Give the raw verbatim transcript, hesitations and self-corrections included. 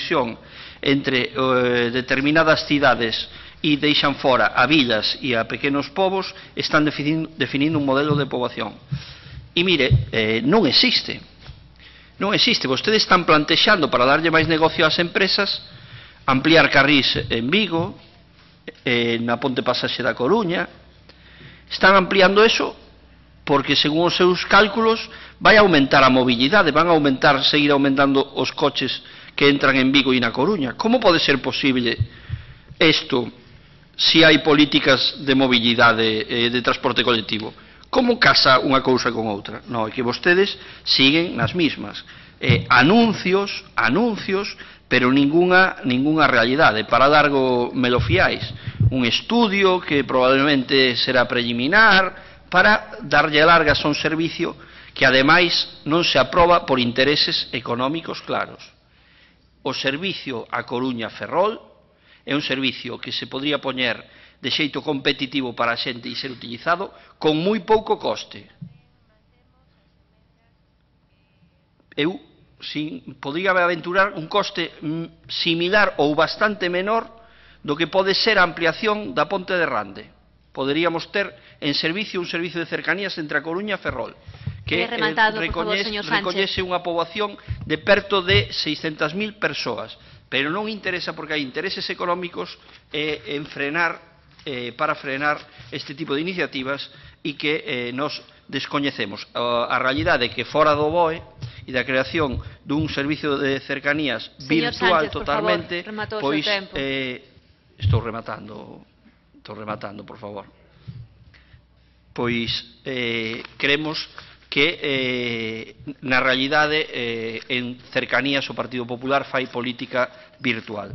conexión entre eh, determinadas cidades e deixan fora a vilas e a pequenos povos, están definindo, definindo un modelo de poboación. E mire, eh, non existe. Non existe. Vostedes están plantexando para darlle máis negocio ás empresas ampliar carrís en Vigo, eh, na Ponte Pasaxe da Coruña. Están ampliando eso porque, según os seus cálculos, vai aumentar a mobilidade, van a aumentar, seguir aumentando os coches que entran en Vigo e na Coruña. Como pode ser posible isto se hai políticas de mobilidade, eh, de transporte colectivo? Como casa unha cousa con outra? Non, é que vostedes siguen nas mismas. Eh, anuncios, anuncios, pero ninguna, ninguna realidade. Para largo me lo fiáis. Un estudio que probablemente será preliminar para darlle largas a un servicio que, ademais, non se aproba por intereses económicos claros. O servicio a Coruña-Ferrol é un servicio que se podría poñer de xeito competitivo para a xente e ser utilizado con moi pouco coste. Eu sin, podría aventurar un coste similar ou bastante menor do que pode ser a ampliación da Ponte de Rande. Poderíamos ter en servicio un servicio de cercanías entre a Coruña e Ferrol, que rematado, recoñece, favor, recoñece unha poboación de perto de seiscentas mil persoas, pero non interesa porque hai intereses económicos eh, en frenar, eh, para frenar este tipo de iniciativas e que eh, nos descoñecemos. A, a realidade é que fora do B O E e da creación dun servicio de cercanías Señor virtual Sánchez, totalmente, por favor, pois eh, estou rematando, estou rematando, por favor. Pois eh, creemos que eh, na realidade eh, en cercanías o Partido Popular fai política virtual.